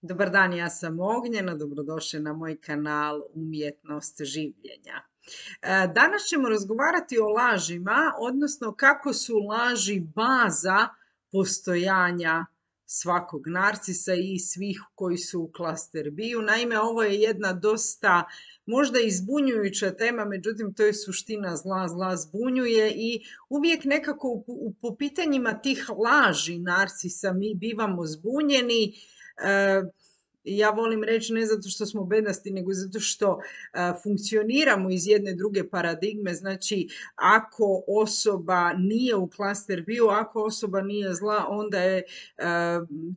Dobar dan, ja sam Ognjena, dobrodošli na moj kanal Umjetnost življenja. Danas ćemo razgovarati o lažima, odnosno kako su laži baza postojanja svakog narcisa i svih koji su u klaster B-u. Naime, ovo je jedna dosta možda i zbunjujuća tema, međutim to je suština zla, zla zbunjuje i uvijek nekako po pitanjima tih laži narcisa mi bivamo zbunjeni. Ja volim reći ne zato što smo bedasti, nego zato što funkcioniramo iz jedne druge paradigme. Znači, ako osoba nije u klaster B-u, ako osoba nije zla, onda je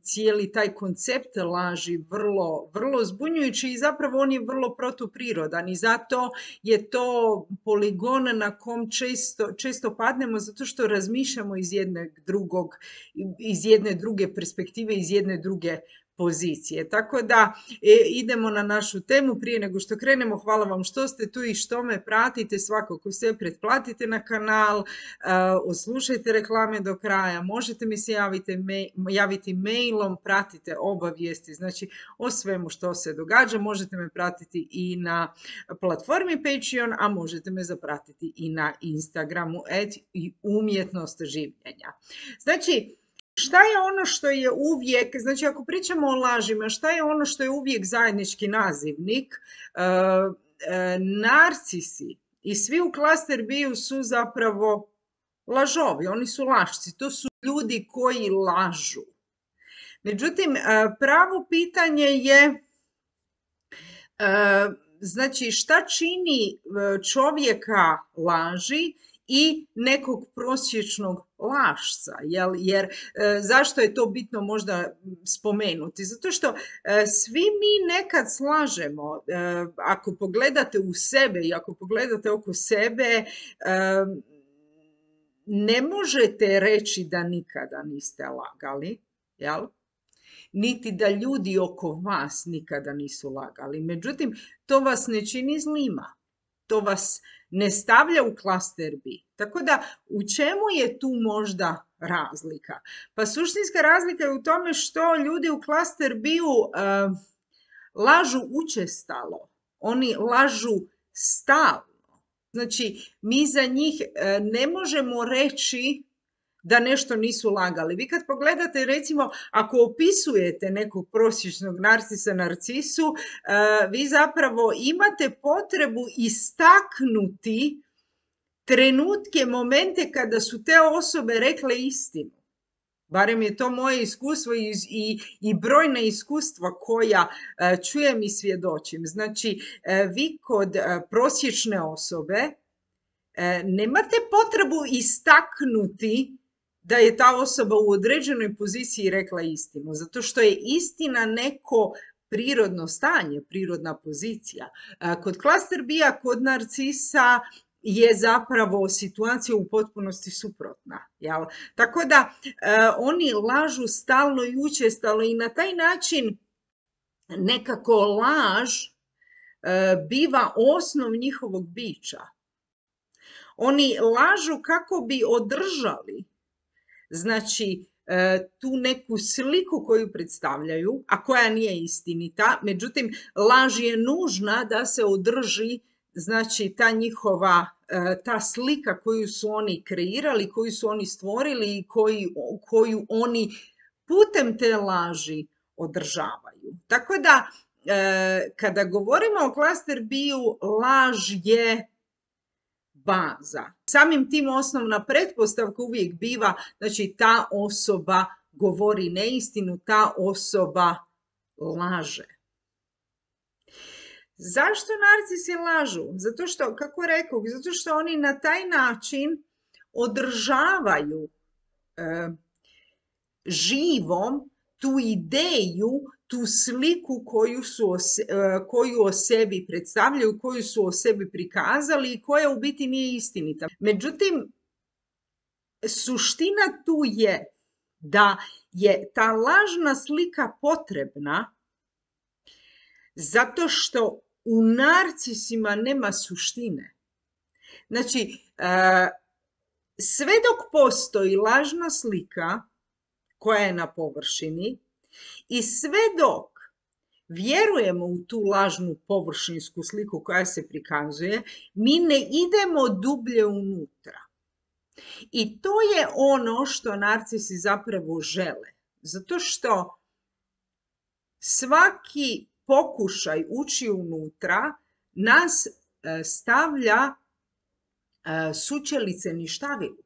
cijeli taj koncept laži vrlo, vrlo zbunjujući i zapravo on je vrlo protuprirodan i zato je to poligon na kom često padnemo zato što razmišljamo iz jedne druge perspektive, iz jedne druge pozicije. Tako da idemo na našu temu. Prije nego što krenemo, hvala vam što ste tu i što me pratite. Svakako se pretplatite na kanal, odslušajte reklame do kraja, možete mi se javiti mailom, pratite obavijesti, znači o svemu što se događa. Možete me pratiti i na platformi Patreon, a možete me zapratiti i na Instagramu @umjetnost življenja. Znači, šta je ono što je uvijek, znači ako pričamo o lažima, šta je ono što je uvijek zajednički nazivnik? Narcisi i svi u klaster B-u su zapravo lažovi, oni su lašci, to su ljudi koji lažu. Međutim, pravo pitanje je, znači šta čini čovjeka laži i nekog prosječnog lašca, jer zašto je to bitno možda spomenuti? Zato što svi mi nekad slažemo. Ako pogledate u sebe i ako pogledate oko sebe, ne možete reći da nikada niste lagali, jel? Niti da ljudi oko vas nikada nisu lagali. Međutim, to vas ne čini zlima. To vas ne stavlja u klaster B. Tako da, u čemu je tu možda razlika? Pa suštinska razlika je u tome što ljudi u klaster B-u lažu učestalo. Oni lažu stalno. Znači, mi za njih ne možemo reći da nešto nisu lagali. Vi kad pogledate, recimo, ako opisujete nekog prosječnog narcisa, narcisu, vi zapravo imate potrebu istaknuti trenutke, momente kada su te osobe rekle istinu. Barem je to moje iskustvo i brojna iskustva koja čujem i svjedočim. Znači, vi kod prosječne osobe nemate potrebu istaknuti da je ta osoba u određenoj poziciji rekla istinu, zato što je istina neko prirodno stanje, prirodna pozicija. Kod klaster B-a, kod narcisa je zapravo situacija u potpunosti suprotna. Jel? Tako da oni lažu stalno i učestalo i na taj način nekako laž biva osnov njihovog bića. Oni lažu kako bi održali, znači, tu neku sliku koju predstavljaju, a koja nije istinita, međutim, laž je nužna da se održi, znači, ta njihova, ta slika koju su oni kreirali, koju su oni stvorili i koju oni putem te laži održavaju. Tako da, kada govorimo o klaster B-u, laž je baza. Samim tim osnovna pretpostavka uvijek biva, znači ta osoba govori neistinu, ta osoba laže. Zašto narcisi lažu? Zato što, kako rekao, zato što oni na taj način održavaju živom tu ideju, tu sliku koju o sebi predstavljaju, koju su o sebi prikazali i koja u biti nije istinita. Međutim, suština tu je da je ta lažna slika potrebna zato što u narcisima nema suštine. Znači, sve dok postoji lažna slika koja je na površini i sve dok vjerujemo u tu lažnu površinsku sliku koja se prikazuje, mi ne idemo dublje unutra. I to je ono što narcisi zapravo žele. Zato što svaki pokušaj ući unutra nas stavlja sučelice ništavilu.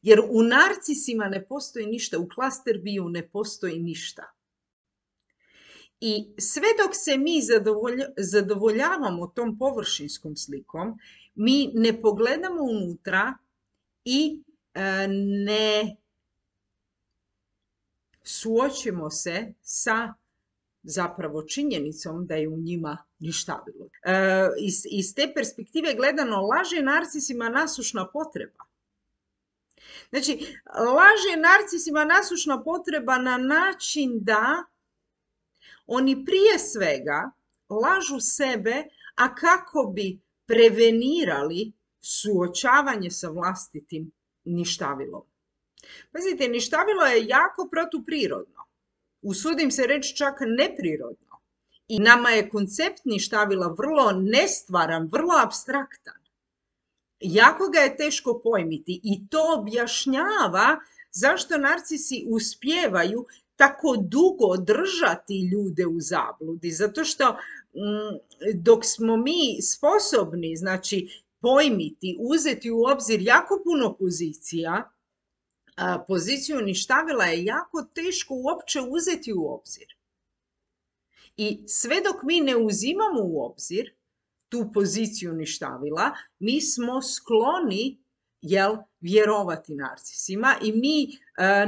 Jer u narcisima ne postoji ništa, u klasterbiju ne postoji ništa. I sve dok se mi zadovoljavamo tom površinskom slikom, mi ne pogledamo unutra i ne suočimo se sa zapravo činjenicom da je u njima ništavilo. Iz te perspektive gledano, laž je narcisima nasušna potreba. Znači, laž je narcisima nasušna potreba na način da oni prije svega lažu sebe, a kako bi prevenirali suočavanje sa vlastitim ništavilom. Pazite, ništavilo je jako protuprirodno. Usudim se reći čak neprirodno. I nama je koncept ništavila vrlo nestvaran, vrlo apstraktan. Jako ga je teško pojmiti i to objašnjava zašto narcisi uspijevaju tako dugo držati ljude u zabludi. Zato što dok smo mi sposobni, znači, pojmiti, uzeti u obzir jako puno pozicija, poziciju ništavila je jako teško uopće uzeti u obzir. I sve dok mi ne uzimamo u obzir tu poziciju ništavila, mi smo skloni vjerovati narcisima i mi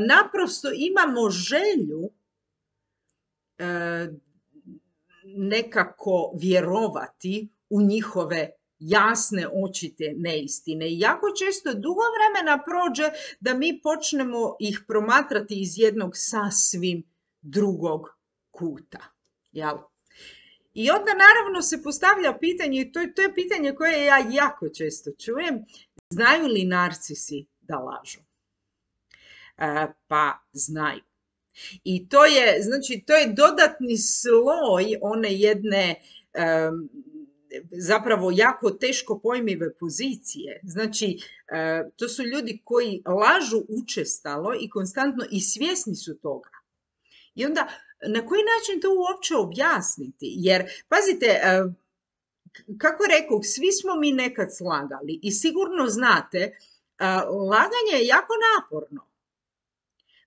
naprosto imamo želju nekako vjerovati u njihove jasne, očite neistine. I jako često dugo vremena prođe da mi počnemo ih promatrati iz jednog sasvim drugog kuta. Jel? I onda naravno se postavlja pitanje, i to je pitanje koje ja jako često čujem, znaju li narcisi da lažu? Pa znaju. I to je, znači, to je dodatni sloj one jedne zapravo jako teško pojmive pozicije. Znači, to su ljudi koji lažu učestalo i konstantno i svjesni su toga. I onda, na koji način to uopće objasniti? Jer, pazite, kako rekoh, svi smo mi nekad slagali i sigurno znate, laganje je jako naporno.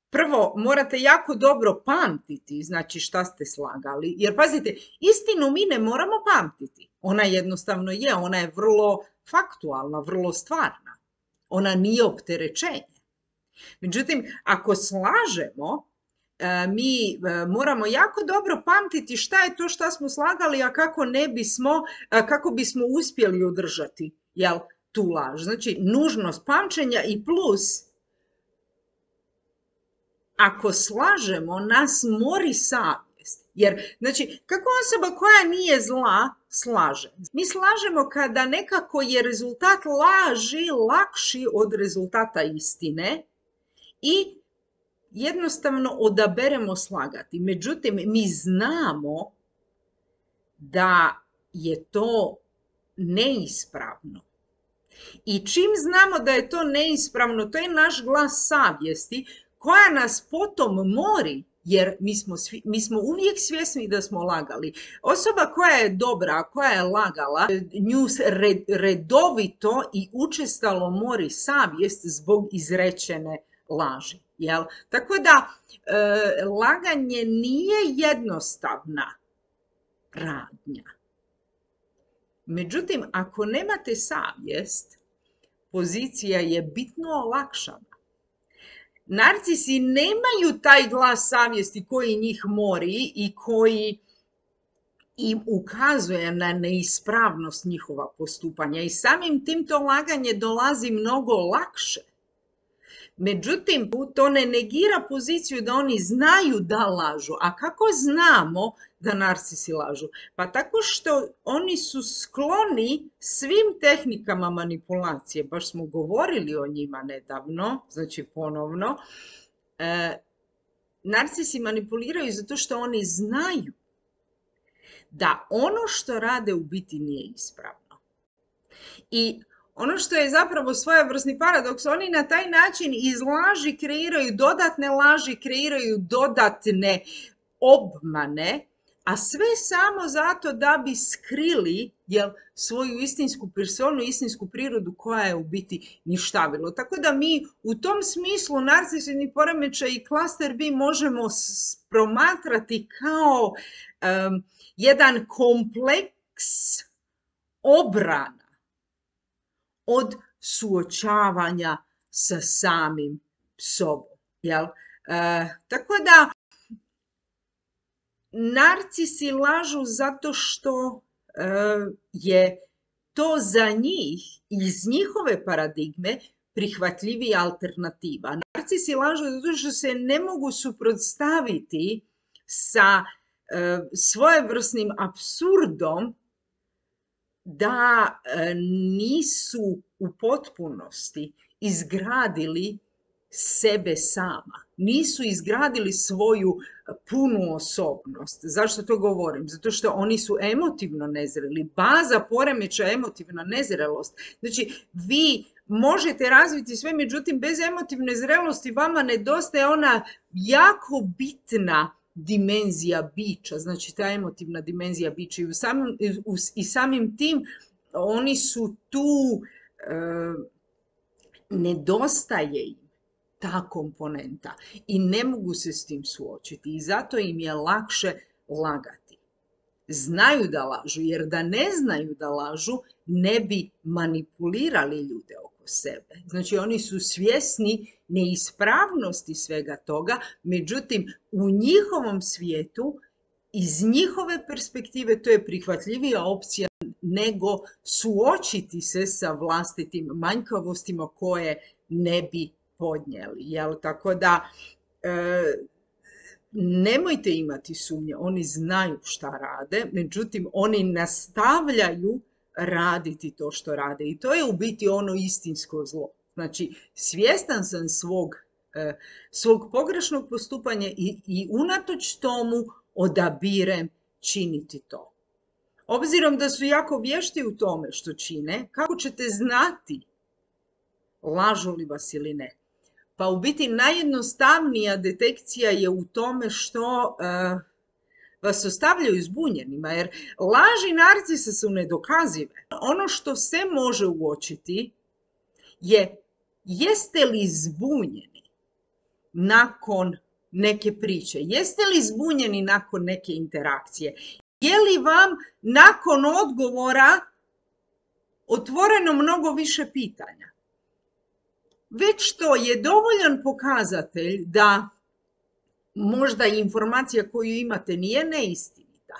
Prvo, morate jako dobro pamtiti, znači šta ste slagali. Jer, pazite, istinu mi ne moramo pamtiti. Ona jednostavno je, ona je vrlo faktualna, vrlo stvarna. Ona nije opterećenje. Međutim, ako slažemo, mi moramo jako dobro pamtiti šta je to šta smo slagali, a kako bismo uspjeli održati tu laž. Znači, nužnost pamćenja i plus, ako slažemo, nas mori savjest. Jer, znači, kako osoba koja nije zla slaže? Mi slažemo kada nekako je rezultat laži lakši od rezultata istine i jednostavno odaberemo slagati. Međutim, mi znamo da je to neispravno. I čim znamo da je to neispravno, to je naš glas savjesti koja nas potom mori, jer mi smo uvijek svjesni da smo lagali. Osoba koja je dobra, koja je lagala, nju redovito i učestalo mori savjest zbog izrečene laži. Jel? Tako da, laganje nije jednostavna radnja. Međutim, ako nemate savjest, pozicija je bitno olakšana. Narcisi nemaju taj glas savjesti koji njih mori i koji im ukazuje na neispravnost njihova postupanja i samim tim to laganje dolazi mnogo lakše. Međutim, to ne negira poziciju da oni znaju da lažu. A kako znamo da narcisi lažu? Pa tako što oni su skloni svim tehnikama manipulacije. Baš smo govorili o njima nedavno, znači ponovno. Narcisi manipuliraju zato što oni znaju da ono što rade u biti nije ispravno. I ono što je zapravo svojevrsni paradoks, oni na taj način iz laži kreiraju dodatne laži, kreiraju dodatne obmane, a sve samo zato da bi skrili svoju istinsku personu, istinsku prirodu koja je u biti ništavilo. Tako da mi u tom smislu narcisni poremećaj i klaster B možemo promatrati kao jedan kompleks obrana od suočavanja sa samim sobom. Tako da narcisi lažu zato što je to za njih iz njihove paradigme prihvatljivija alternativa. Narcisi lažu zato što se ne mogu suprotstaviti sa svojevrsnim apsurdom da nisu u potpunosti izgradili sebe sama. Nisu izgradili svoju punu osobnost. Zašto to govorim? Zato što oni su emotivno nezreli. Baza poremećaja je emotivna nezrelost. Znači, vi možete razviti sve, međutim, bez emotivne zrelosti vama nedostaje ona jako bitna dimenzija bića, znači ta emotivna dimenzija bića i samim tim oni su tu, nedostaje im ta komponenta i ne mogu se s tim suočiti i zato im je lakše lagati. Znaju da lažu, jer da ne znaju da lažu, ne bi manipulirali ljude oko sebe. Znači oni su svjesni neispravnosti svega toga, međutim u njihovom svijetu, iz njihove perspektive, to je prihvatljivija opcija nego suočiti se sa vlastitim manjkavostima koje ne bi podnijeli. Tako da nemojte imati sumnje, oni znaju šta rade, međutim oni nastavljaju raditi to što rade i to je u biti ono istinsko zlo. Znači, svjestan sam svog pogrešnog postupanja i unatoč tomu odabirem činiti to. Obzirom da su jako vješti u tome što čine, kako ćete znati lažu li vas ili ne? Pa u biti najjednostavnija detekcija je u tome što vas ostavljaju zbunjenima, jer laži narcisa su nedokazive. Ono što se može uočiti je jeste li zbunjeni nakon neke priče, jeste li zbunjeni nakon neke interakcije, je li vam nakon odgovora otvoreno mnogo više pitanja. Već to je dovoljan pokazatelj da možda informacija koju imate nije neistinita.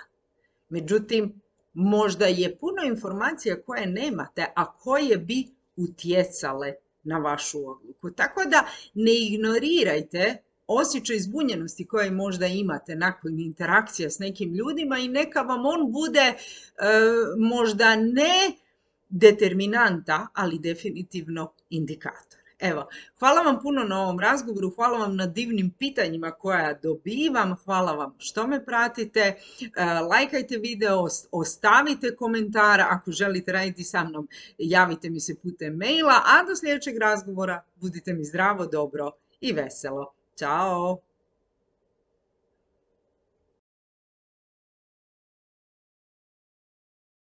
Međutim, možda je puno informacija koje nemate, a koje bi utjecale na vašu odluku. Tako da ne ignorirajte osjećaj zbunjenosti koje možda imate nakon interakcija s nekim ljudima i neka vam on bude možda ne determinanta, ali definitivno indikator. Evo, hvala vam puno na ovom razgovoru, hvala vam na divnim pitanjima koja dobivam, hvala vam što me pratite, lajkajte video, ostavite komentar, ako želite raditi sa mnom, javite mi se putem maila, a do sljedećeg razgovora budite mi zdravo, dobro i veselo. Ćao!